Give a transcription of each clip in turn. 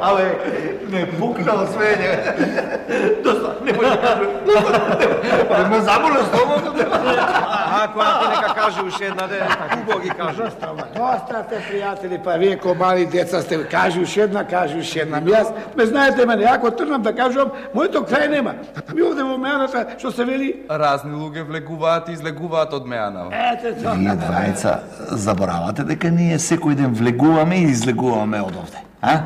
Абе, ме пукнал свење. Доста, не може да кажу. Абе, ме заболе стомакот. Ако ти нека каже уште една де, убаво ги кажу. Доста сте пријатели, па вие ко мали деца сте, кажи уште една. Јас, ме знаете мене, ако трнам да кажувам, моето крај нема. Ми овде во меаната, што се вели? Разни луѓе влегуваат и излегуваат од меана. Ете тоа. Вие двајца заборавате дека ние секој ден влегуваме и излегуваме од овде, а?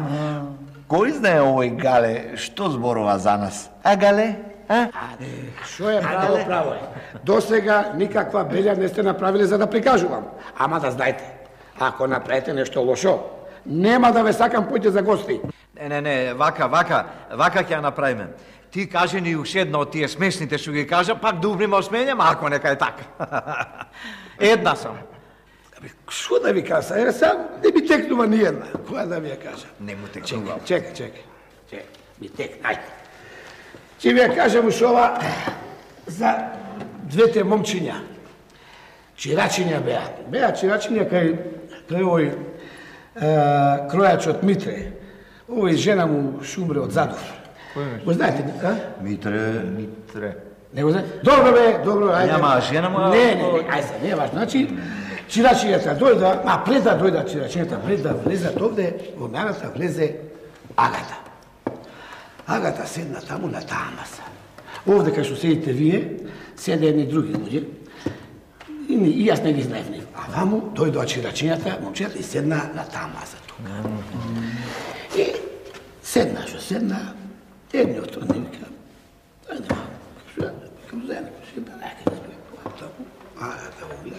Кој знае овој Гале што зборува за нас? А, Гале? Шо е право е. До сега никаква белја не сте направиле за да прикажувам. Ама да знаете, ако направите нешто лошо, нема да ве сакам поќе за гости. Не, вака ќе ја направиме. Ти кажи ни уште една од тие смешните што ги кажа, пак да убриме осмењам, ако нека е така. Една сам. Шо да ви кажа? Еве сам не ми текнува ни една. Која да ви ја кажа? Не му текнува. Чекај. Ми текна, ајде. Ќе ви ја кажам уште ова за двете момчиња. Чирачиња беа. Беа чирачиња кај овој кројачот Митре. Овој жена му шумре од Задов. Го знаете, а? Митре. Не го знаете? Добро, ајде. Нема жена му? Не, ајде, не е важно. Значи, чирачињата дојда, пред да дојда чирачињата, пред да влезат овде, во меаната влезе Агата. Агата седна таму на таа маса. Овде кај што седите вие, седе едни други луѓе. И јас не ги знаев нив. А ваму дојдоа чирачињата, момчета и седна на таа маса тука. И седна, едниот од нив вика, ајде малку, кам заедно, ќе да неке да стои таму. Агата го гледа.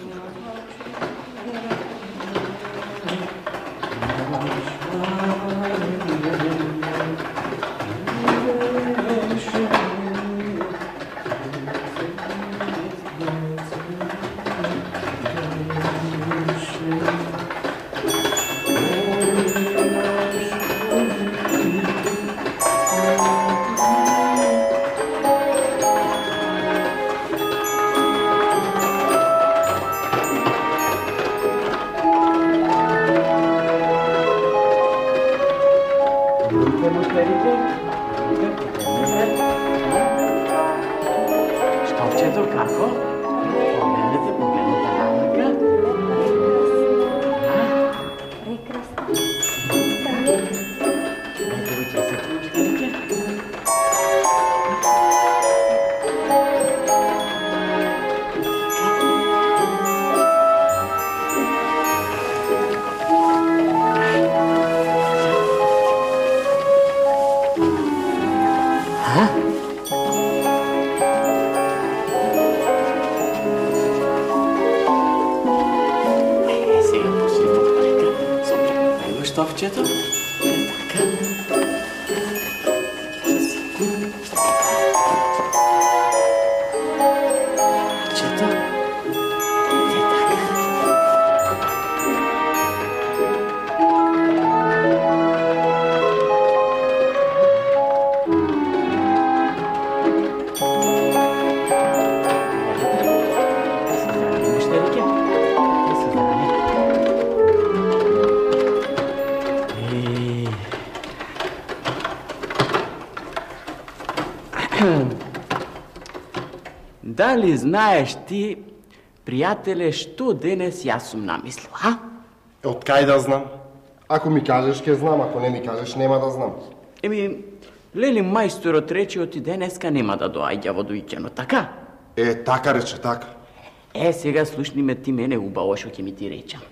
Овчето? Дали знаеш ти, пријателе, што денес јас сум намислил, а? Од кај да знам? Ако ми кажеш, ќе знам, ако не ми кажеш, нема да знам. Лели мајсторот рече оти денеска нема да доаѓа во дојќено, така? Така рече, така. Сега слушни ме ти мене убаво што ќе ми ти речам.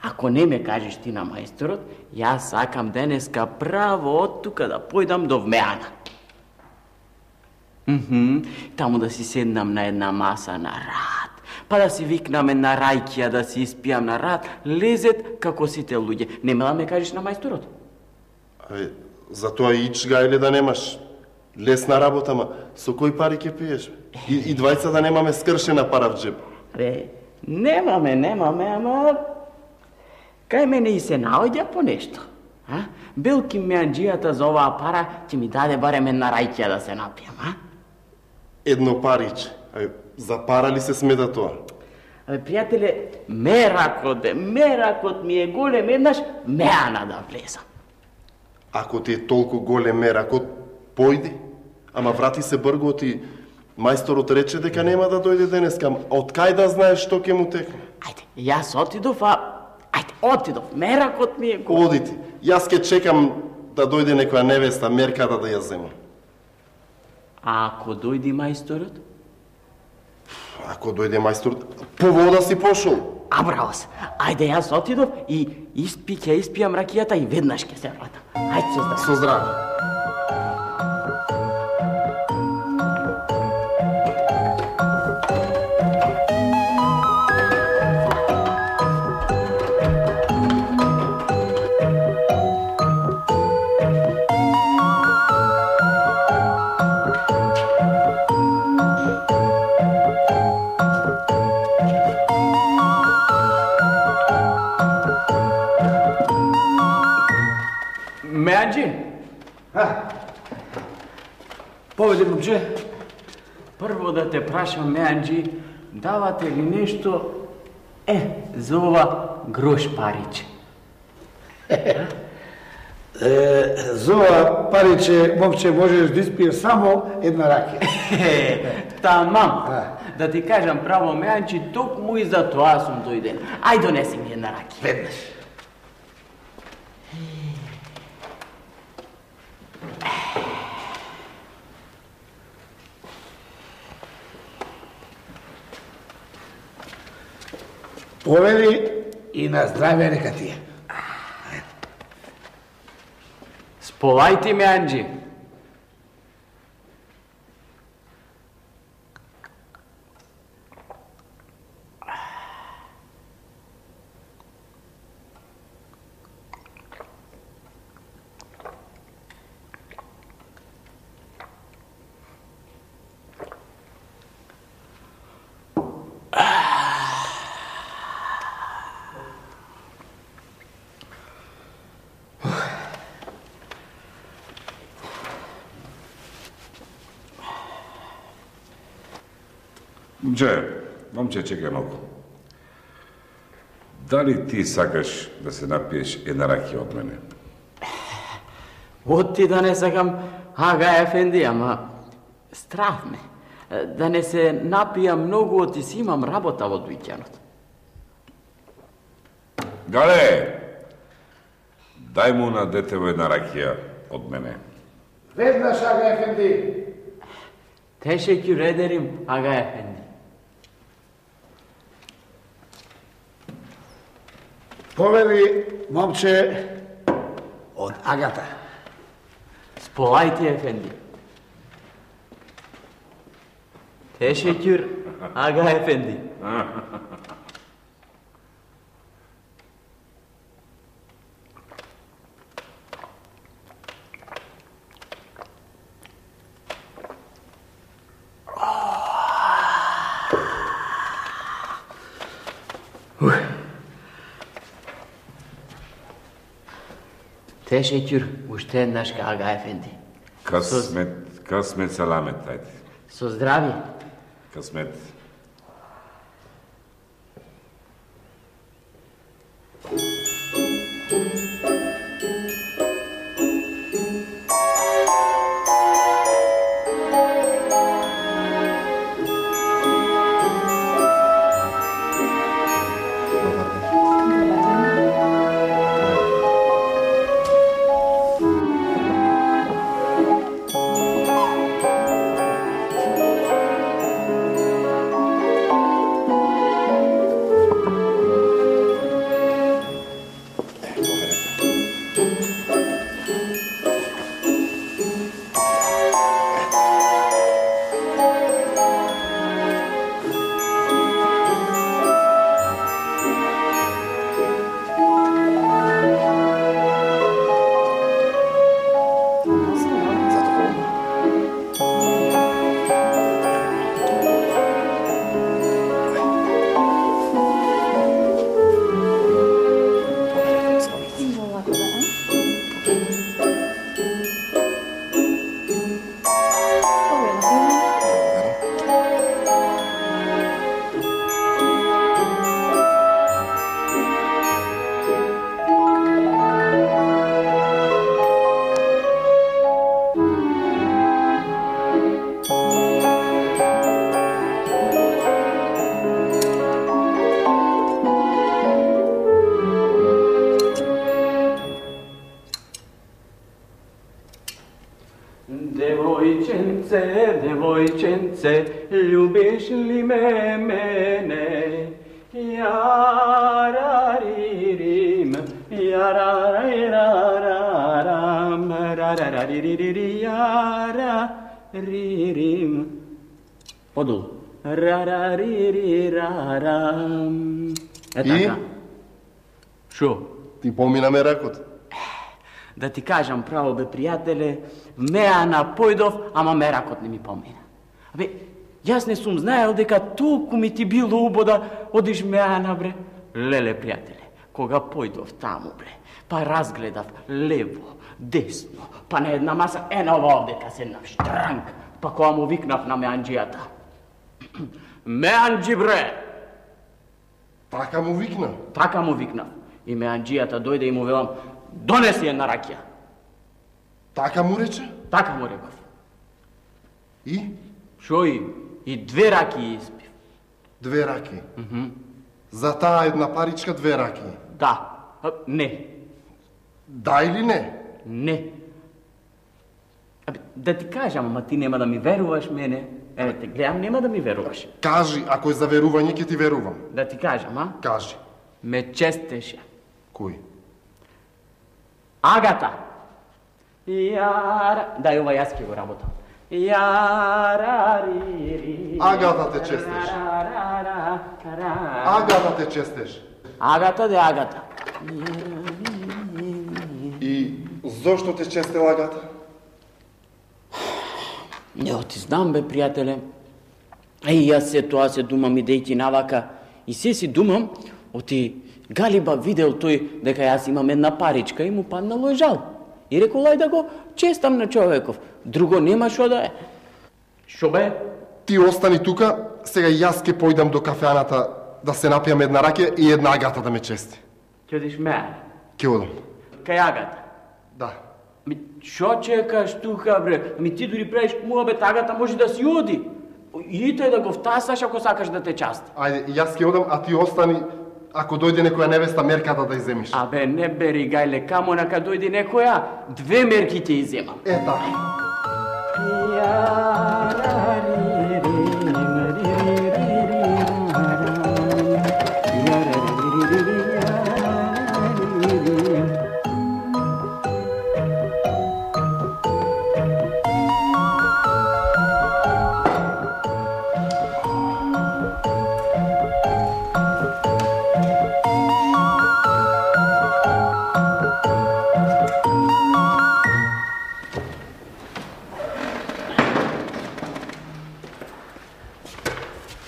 Ако не ме кажеш ти на мајсторот, јас сакам денеска право од тука да појдам до Вмеана. Таму да си седнам на една маса на рад, па да си викнаме на рајкија да си испијам на рад, лезет како сите луѓе. Нема да ме кажеш на мајсторот? Затоа ич гајле да немаш. Лесна работа, ма со кои пари ќе пиеш? И двајца да немаме скршена пара в джеб. Немаме, ама кај мене и се наоѓа по нешто. Белки меанџијата за оваа пара ќе ми даде барем една рајкија да се напијам, Едно париче, За пара ли се смета тоа? Абе, пријателе, меракот ми е голем, еднаш Меана да влезам. Ако ти е толку голем меракот, појди. Ама врати се бргот и мајсторот рече дека нема да дојде денеска. Од кај да знаеш што ќе му текне? Ајде, јас отидов, отидов. Меракот ми е голем. Одити. Јас ќе чекам да дојде некоја невеста мерката да ја земам. А ако дојди мајсторот? Ако дојде мајсторот, по вода си пошол. Браво се. Ајде, јас отидов и ќе испијам ракијата и веднаш ќе се вратам. Ајде, со здраве. Со здраве. Меанџи? Поведи, момче. Прво да те прашам, Меанџи, давате ли нешто за ова грош париче? За ова париче, момче, можеш да испиеш само една ракија. Тамам. Да ти кажам право, Меанџи, токму и за тоа сум дојден. Ај, донеси ми една ракија. Веднаш. Повели и на здраве нека ти е. Сполајте, Меанџи. Момче, чекај малку. Дали ти сакаш да се напиеш една ракија од мене? Отти да не сакам, ага, ефенди, ама страв ме. Да не се напија многу, оти си имам работа во дуќанот. Гале, дај му на детево една ракија од мене. Веднаш, ага, ефенди. Teşekkür ederim Aga Efendi. Повели, момче, од Агата. Сполајте, Efendi. Teşekkür Aga Efendi. Teşekkür уште еднаш Ага Ефенди. Късмет саламет, ајде. Со здравје. Късмет. се, любиш ли ме мене? Яраририм, ярарирарарам, рарариририририм, яраририм. Подолу. Рараририрарам. Е така. Шо? Ти помина ме ракот. Да ти кажам право, бе, пријателе, меана појдов, ама меракот не ми помина. Абе, јас не сум знаел дека толку ми ти било убода одиш меана, бре. Леле, пријателе, кога појдов таму, бре, па разгледав лево, десно, па на една маса, ена ова овдека седнав штранг, па кога му викнав на меанџијата. Меанџи, бре! Така му викна? Така му викнав. И меанџијата дојде и му велам, донеси една ракија. Така му рече? Така му реков. И? Шо и? И 2 ракии испив. 2 раки? За таа една паричка 2 раки? Да. Не. Да или не? Не. Абе, да ти кажам, ама ти нема да ми веруваш мене. Еве те гледам, нема да ми веруваш. Кажи, ако е за верување, ќе ти верувам. Да ти кажам, а? Кажи. Ме честеше. Кој? Агата. Јара... Дај ова јас ќе го работам. Јарарири... Агата те честеш. Агата те честеш. Агата де Агата. И зошто те честел Агата? Не, ти знам, бе, пријателе. Јас се тоа се думам идејќи навака. И се си думам, оти Галиба видел тој дека јас имам една паричка и му паднало жал. И рекол, ај да го честам на човеков. Друго нема шо да е. Шо бе? Ти остани тука, сега јас ќе појдам до кафеаната да се напијам една ракија и една Агата да ме чести. Ќе одиш ме? Ќе одам. Кај Агата? Да. Ми, шо чекаш тука, бре? Ами ти дури правиш муабет, Агата може да си оди. Идите да го втасаш ако сакаш да те части. Ајде, јас ќе одам, а ти остани, ако дојде некоја невеста, мерката да иземиш. Абе, не бери, гајле, камо нака дојде некоја, 2 мерки ќе иземам. Е, така.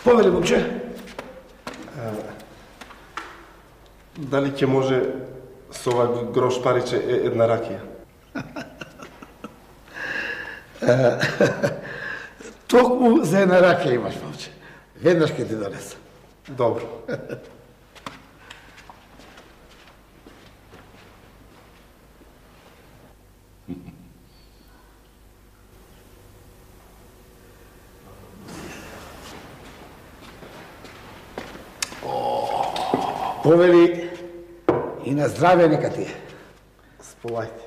Повели, момче? Дали ќе може со ова грош париче една ракија? Токму за една ракија имаш, момче. Веднаш ќе ти донесам. Добро. Повели и на здраве нека ти е. Сполајте.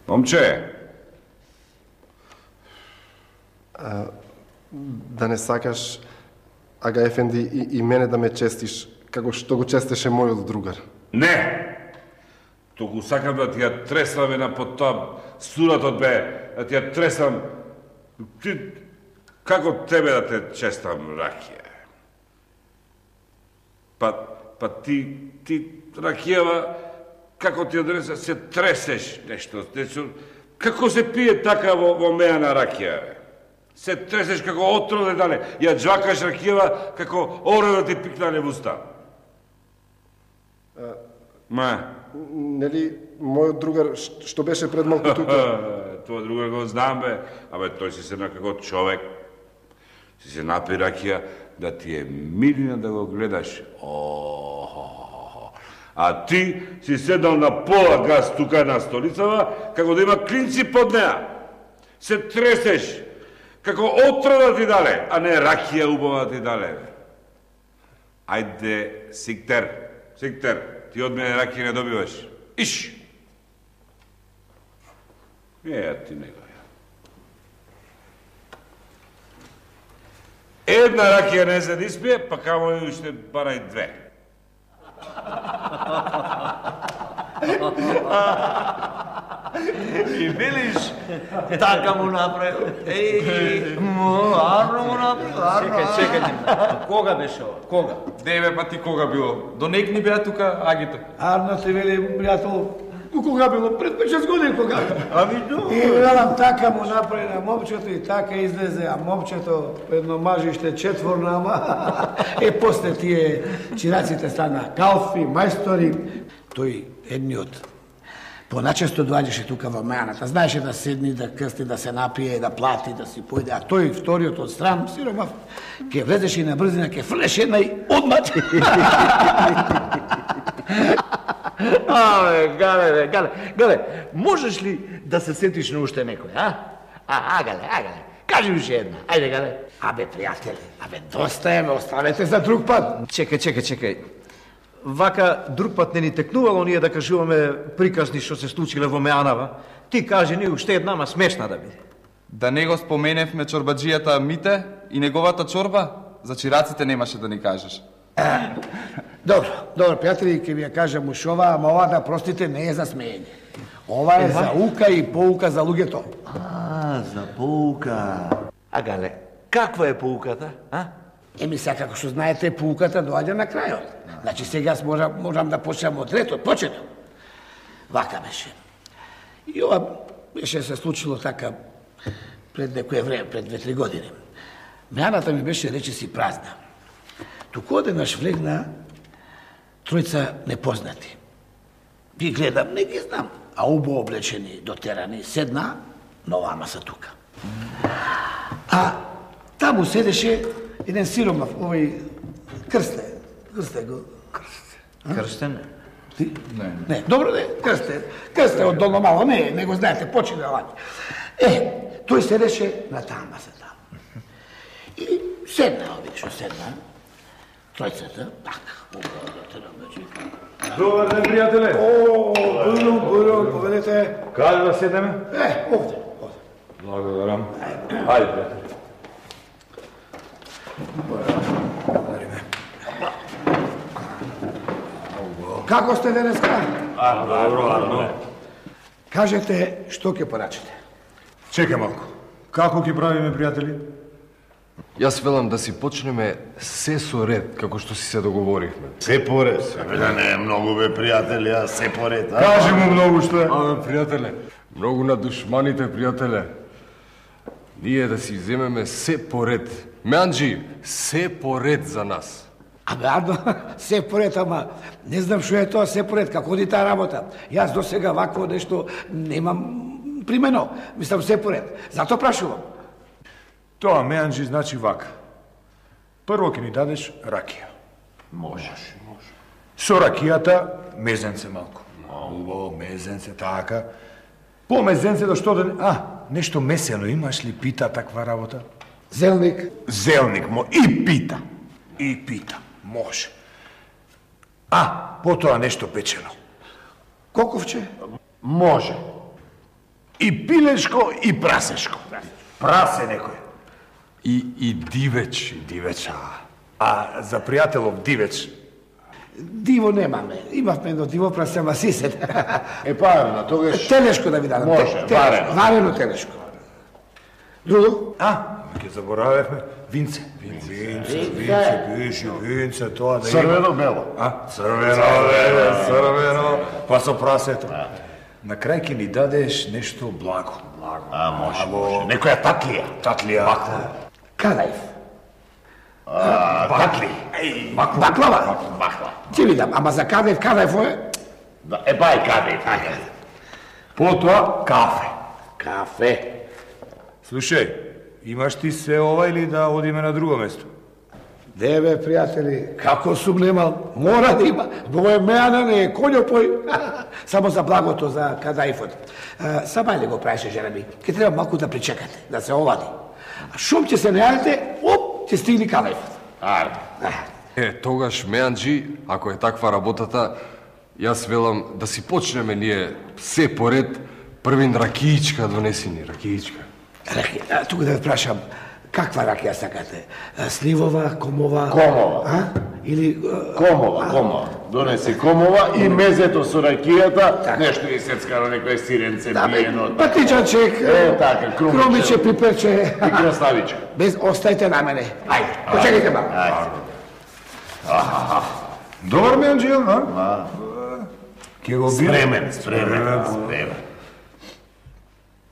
Момче! Да не сакаш, Ага Ефенди, и мене да ме честиш, како што го честеше мојот другар. Не! Туку сакам да ти ја тресам една под тоа суратот бе, да ти ја тресам. Ти, како тебе да те честам, ракија? Па ти ракијава, како ти одреса, се тресеш нешто. Како се пие така во меана ракија, бе? Се тресеш како отроде дале, ја джвакаш ракијава како оре да ти пикнане в уста. Ма, Нели, мојот другар што беше пред малку тука? Тоа другар го знам, бе. Абе, тој си се како човек. Си се напи ракија да ти е милина да го гледаш. А ти си седнал на пола газ тука на столицава, како да има клинци под неа. Се тресеш, како отра да ти дале, а не ракија убава да ти дале. Ајде, Сиктер, ти од мене ракија не добиваш. Иш! Ти него. Една ракија не се диспие, па камо и уште барај две. И видиш, така му направил. Арно му направил. Чекајте. Кога беше ова? Кога? Деве па ти кога било? Донекни беа тука агите. Арно ти вели, пријател, кога било? Пред 5-6 години кога? Ами до. И велам, така му направи на момчето и така излезе, а момчето едно мажиште четворно, ама после тие чираците стана калфи, мајстори. Тој едниот поначесто доаѓаше тука во Меаната. Знаеше да седни, да крсти, да се напие, да плати, да си појде. А тој вториот од стран, сиромав, ке влезеше и на брзина, ке фрлеше една и одмат. Гале, можеш ли да се сетиш на уште некој, а? Гале, кажи уште една, ајде, Гале. Абе, пријатели, доста е, ме оставете за друг пат. Чекај. Вака друг пат не ни текнувало ние да кажуваме приказни што се случиле во Меанава. Ти кажи ни уште една, ма смешна да биде. Да не го споменевме чорбаджијата Мите и неговата чорба, за чираците немаше да ни кажеш. Добро, пријатели, ќе ви ја кажам уш ова, ама ова да простите не е за смеење. Ова е за ука и поука за луѓето. За поука. Гале, каква е поуката, а? Сега, како што знаете, поуката доаѓа на крајот. Значи, сега можам да почнам од ретот, почеток. Вака беше. И ова беше се случило така пред некое време, пред 2-3 години. Меаната ми беше речиси празна. Туку одеднаш влегна тројца непознати. Би гледам, не ги знам, а убаво облечени, дотерани, седна на оваа маса тука. А таму седеше еден сиромав, овој Крсте го. Крстен? Ти? Не. Добро, Крсте од долно мало, не го знаете, почина ваќе. Тој седеше на таа маса таму. И седна, тројцата, така, Добар ден, пријателе. Бурум, поведете. Каде да седеме? Овде. Благодарам. Ајде, пријателе. Како сте денеска? Добро. Кажете, што ќе порачите? Чекај малку. Како ќе правиме, пријатели? Јас велам да си почнеме се со ред, како што си се договоривме. Се поред. Да не е многу, бе, пријатели, а се поред, а? Кажи му многу што е. Пријателе, многу на душманите, пријателе. Ние да си земеме се поред. Меанџи, се поред за нас. Адно, се поред, ама не знам што е тоа се поред, како оди таа работа. Јас до сега вакво нешто немам примено. Мислам се поред. Зато прашувам. Тоа, Меанџи, значи вака. Прво ќе ни дадеш ракија. Може. Со ракијата мезенце малку. Убаво, мезенце, така. По мезенце да што да... нешто месено имаш ли, пита таква работа? Зелник. Зелник, и пита. Може. Потоа нешто печено. Коковче? Може. И пилешко, и прасешко. Прасе некој. И дивеч. Дивеч, за пријателов дивеч. Диво немаме. Имавме едно диво прасе, ама сисет. Парно, тогаш... Телешко да ви дадам. Може, варено. Варено телешко. Друго? Ќе заборавевме. Винце, тоа да има. Црвено-бело. Црвено, па со прасето. На крај ќе ни дадеш нешто благо. Може. Некоја татлија. Бакла. Кадаев. Бакли. Баклава. Ќе ви дам, ама за Кадаев е... Да, бај каде, така. Потоа кафе. Кафе. Слушај, имаш ти се ова или да одиме на друго место? Не бе, пријатели, како сум немал, мора да има. Бој Меана не е конјопој. Само за благото, за кадаифот. Сама ли го правеше, жена ми? Ке треба малку да причекате, да се олади. А шум ќе се не јавите, оп, ќе стигни кадаифот. Ајде. Тогаш, Меанджи, ако е таква работата, јас велам да си почнеме ние се поред, првин ракиичка донеси ни, ракиичка. Тука да ве прашам, каква ракија сакате? Сливова, комова? Комова. Или... Комова. Донеси комова и мезето со ракијата, нешто и сецкано, некој сиренце, биено. Патичачек, така, крумиче, пиперче. И краставичка. Без, остајте на мене. Ајде, почекайте малку. Добар Меанджијел, Ке го Спремен.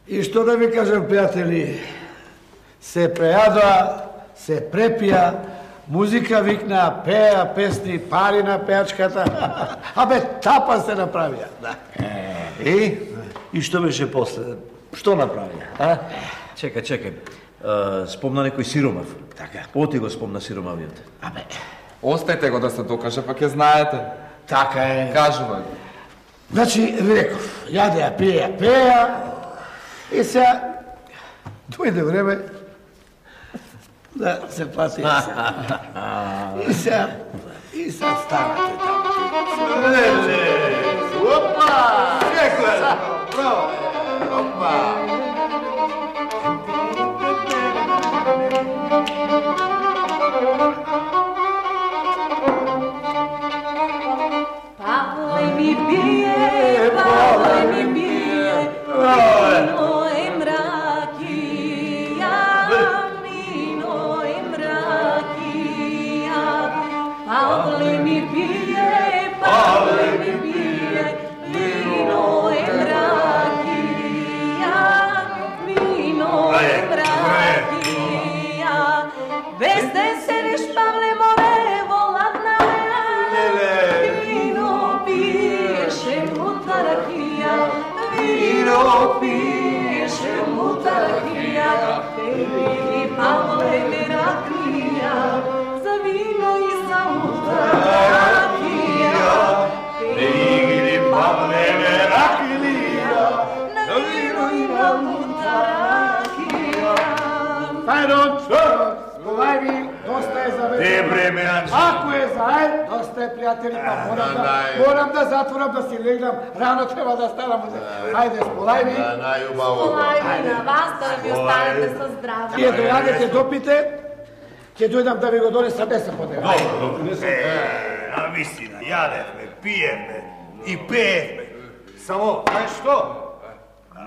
И што да ви кажам, пријатели, се прејадоа, се препија, музика викна, пеа песни, пари на пеачката, абе тапа се направија. И што беше после? Што направија? Чекај. Спомна некој сиромав. Така. Оти го спомна сиромавиот. Абе, Остајте го да се докаже, па ќе знаете. така е. Кажува. Значи, ви реков, јадеа, пеа, и сега дојде време да се плати и сега станате таму. Опа! Секој! Браво! Опа! Pavle mi bije, vino i mrakija, Pavle mi bije, vino i mrakija, bez te se neš Pavle more volatna vino piše mutarahija, tebi Pavle merakija, za vino i za mutarahija, tebi Pavle merakija, na vino i na mutarahija. Ajde, Polajvi, dosta je za večer. Ako je zaед, dosta je, prijatelji, pa moram da zatvoram, da si legnam, rano treba da stanam. Ajde, Polajvi. Polajvi na vas, da vi ostanete sa zdravim. Вие дојадете, допите, ќе дојдам да ви го донесам, не се подева. Навистина, јадевме, пиевме и пеевме. Само, знаеш што?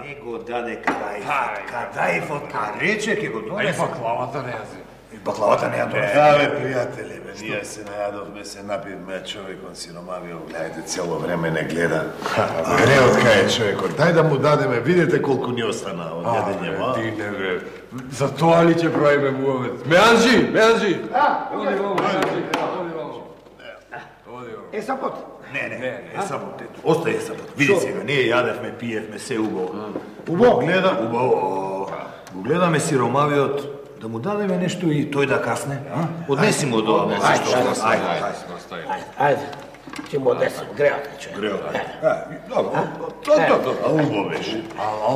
Не го даде кадаифот. Кадаифот, ка рече, ке го донесе. Баклавата не јази. И баклавата не ја донесе. Абе, пријатели, ние се најадовме, се напивме, човекот сиромавио, гледајте, цело време не гледа. Греот кај е човекот, дај да му дадеме, видите колку ни остана од јадење, ма? Ти не бе. За тоа ли ќе правиме муавет? Меанджи! Оди вамо, Меанджи. Е, сапот. Не, сапот, ето. Остај сапот. Види сега, ние јадевме, пиевме, се убаво. Убаво? Гледа, убаво. Го гледаме сиромавиот, да му дадеме нешто и тој да касне. Однеси му до ова. Ајде, ќе му однесам, греот, човек. Добро. Убаво беше.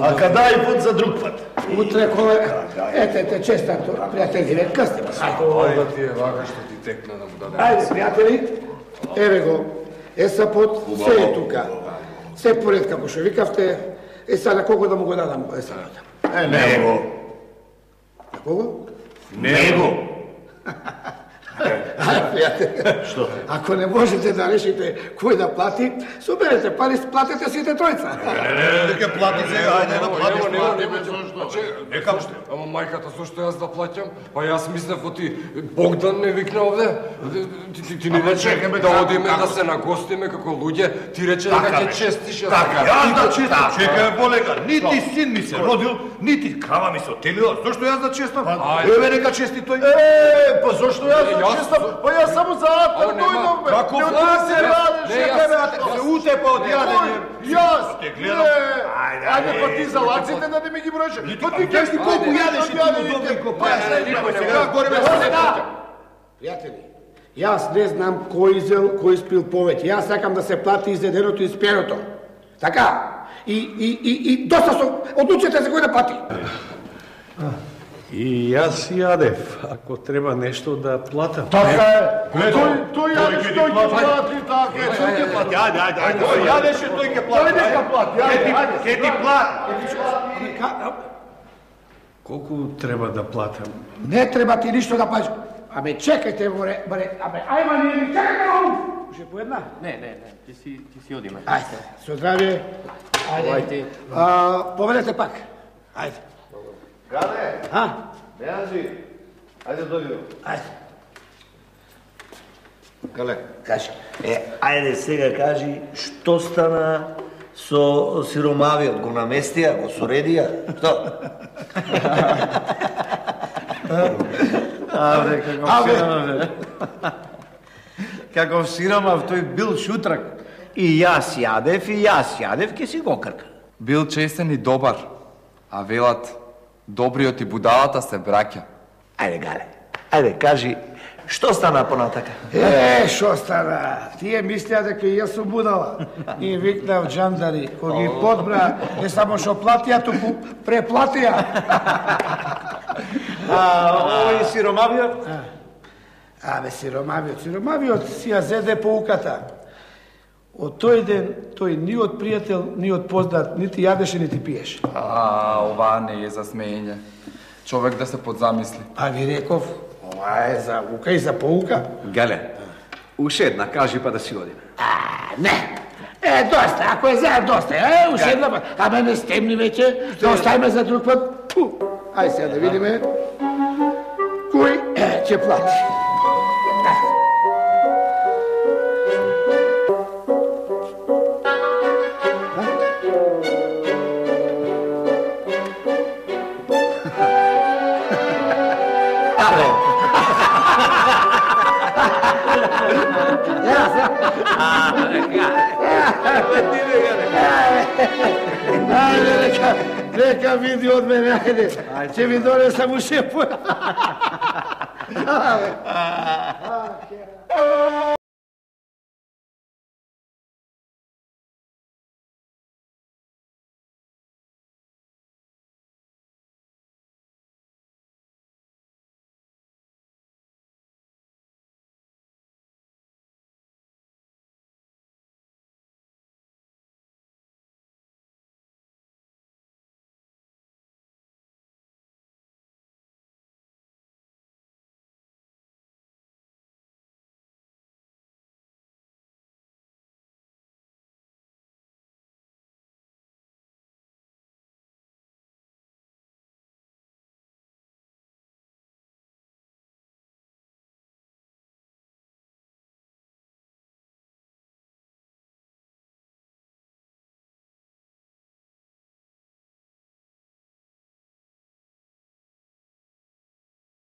А кадаифот за друг пат. Утре, коле, ете, честато, пријатели, късне. Ајде ти е вака што ти текна да му даде. Ајде, пријатели, еве го, сапот, се е тука. Се поред како што викавте, сега на кого да му го дадам сапот? Него. На кого? Него. Пријатели, што? Ако не можете да решите кој да плати, соберете пари, платете сите тројца. Дека плати сега, ајде да платиш, Нека, ама мајката, зошто јас да плаќам? Па јас мислев оти Богдан не викна овде. Ти не рече да одиме да се нагостиме како луѓе, ти рече дека ќе честиш. Така, јас да честам. Чекај, полека, нити син ми се родил, нити крава ми се отелила. Зошто јас да честам? Еве нека чести тој. Па зошто јас да Па јас само за атак дојдов, бе. Како влазе, се утепа од јадење. Јас? Ајде, па ти за лаците да не ми ги бројше. Па ти кажеш ти колку јадеш и Пријатели, јас не знам кој изел, кој спил повеќе. Јас сакам да се плати изеденото и спиеното. Така? И доста со одлучете за кој да плати. И јас јадев, ако треба нешто да платам. Така е. Тој јадеш, тој ќе плати, така е. Тој ќе плати, ајде. Тој јадеш и тој ќе плати. Тој ќе плати, ајде. Ке ти плати. Колку треба да платам? Не треба ти ништо да платиш. Абе, чекајте, абе, ајма ние ни чекајте, Ше по една? Не, ти си одиме. Ајде, со здравје. Ајде. Поведете пак. Ајде. Каде? Беанжи, ајде дојди. Ајде. Кале? Кажи. Ајде сега кажи, што стана со сиромавиот? Го наместија, го соредија? Што? Каков сиромав, тој бил шутрак. И јас јадев, ке си го крка. Бил честен и добар, а велат, добриот и будалата се браќа. Ајде, Гале, ајде, кажи, што стана понатака? Шо стана? Тие мислеа дека и јас сум будала. И викнав джандари, кој ги подбра, не само шо платија, туку преплатија. Овој сиромавиот? Абе, сиромавиот си ја зеде поуката. Од тој ден, тој ни од пријател, ни од познат, нити јадеше, нити пиеше. Ова не е за смеење. Човек да се подзамисли. А ви реков, ова е за ука и за поука. Гале, уште една кажи па да си одиме. Не. Доста, ако е заед, доста. Уште една пат. Абе, не стемни веќе, да оставиме за друг пат. Ајде сега да видиме кој ќе плати. Ајде, нека види од мене, ајде. Ќе ви донесам уште по...